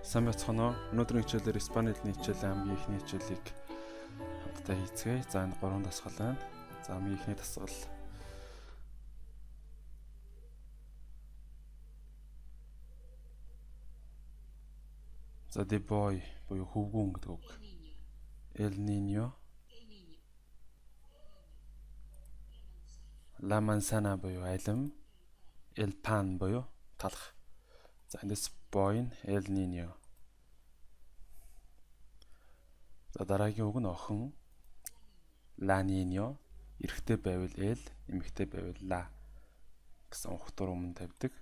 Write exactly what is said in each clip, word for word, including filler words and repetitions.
Сайн байцгаана уу? Өнөөдрийн хичээлээр Испани хэлний хичээлийн хамгийн ихний хичээлийг хамтдаа хийцгээе. За энэ гурван дасгал байна. За хамгийн ихний дасгал За the boy буюу хөвгүүн гэдэг үг. El niño. La manzana буюу алим. El pan буюу талах. За эндээс boy нь El niño. За дараагийн үг нь охин. La niño. Эрэгтэй байвал El, эмэгтэй байвал La гэсэн ухтар өмнө тавьдаг.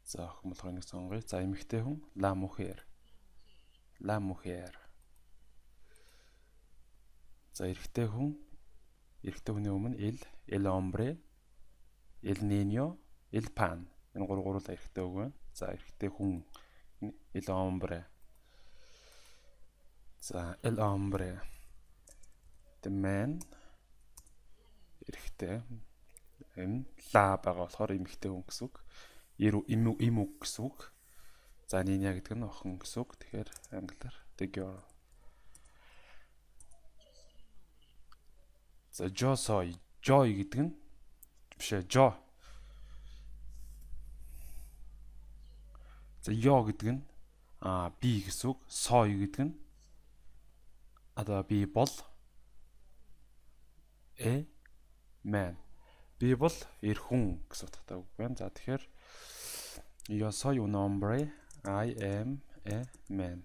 За охин болохоор нэг сонгоё. За эмэгтэй хүн La mujer. La mujer. За эрэгтэй хүн эрэгтэй хүний өмнө El, El hombre, El niño, El pan. Энэ гурав гурвал эрэгтэй үг байна. За эрэгтэй хүн El hombre. За El hombre. The man. Эрэгтэй. Энэ La байгаа болохоор эмэгтэй хүн гэсэн үг. Им им үг гэсэн үг. За niña гэдэг нь охин гэсэн үг. Тэгэхээр англиар the girl. За yo soy. Joy гэдэг нь биш ээ, jo. За yo гэдэг нь а би гэсэн үг. Soy гэдэг нь одоо би бол э man. Би бол эр хүн гэсэн утгатай үг байна. За тэгэхээр yo soy un hombre. I am a man.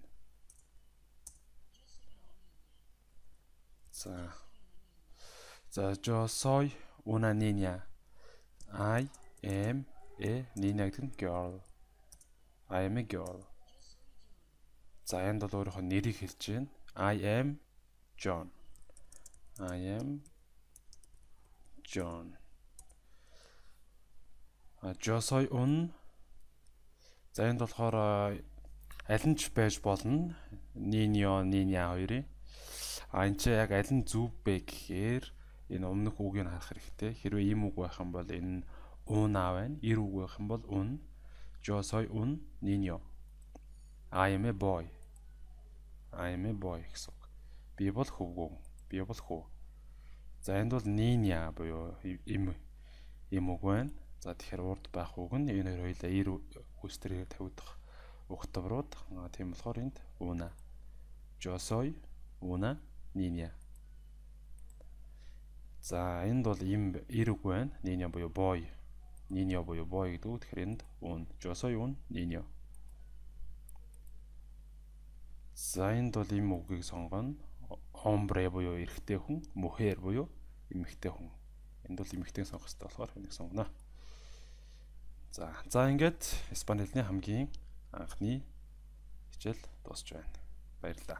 За За yo soy una niña. I am a niña гэдэг нь girl. I am a girl. За энд бол өөрийнхөө нэрийг хэлж байна. I am John. I am John. А yo soy un. За энд болохоор аль нь ч байж болно. Niño, niña хоёрын. А энэ ч яг аль нь зөв бэ гэхээр энэ өмнөх үгийг харах хэрэгтэй. Хэрвээ ийм үг байх юм бол энэ una байна. Эр үг байх юм бол un. Yo soy un niño. I am a boy. I am a boy гэсэн үг. Би бол хөвгүүн. Би бол хүү. За энд бол niña буюу им им үг байна. За тэгэхээр урд байх үг нь энэ хоёр хоёлаа эр үстрээр тавигдах угтаврууд. Тийм болохоор энд una. Yo soy una niña. За энд бол им эр үг байна. Niña буюу boy. Niño буюу boy гэдэг үг. Тэгэхээр энд un. Yo soy un niño. За энд бол им үгийг сонгоно. Hombre буюу эрэгтэй хүн, mujer буюу эмэгтэй хүн. Энд бол эмэгтэй сонгох хэрэгтэй болохоор энийг сонгоно. За за ингээд Испани хэлний хамгийн анхны хичээл дуусч байна. Баярлалаа.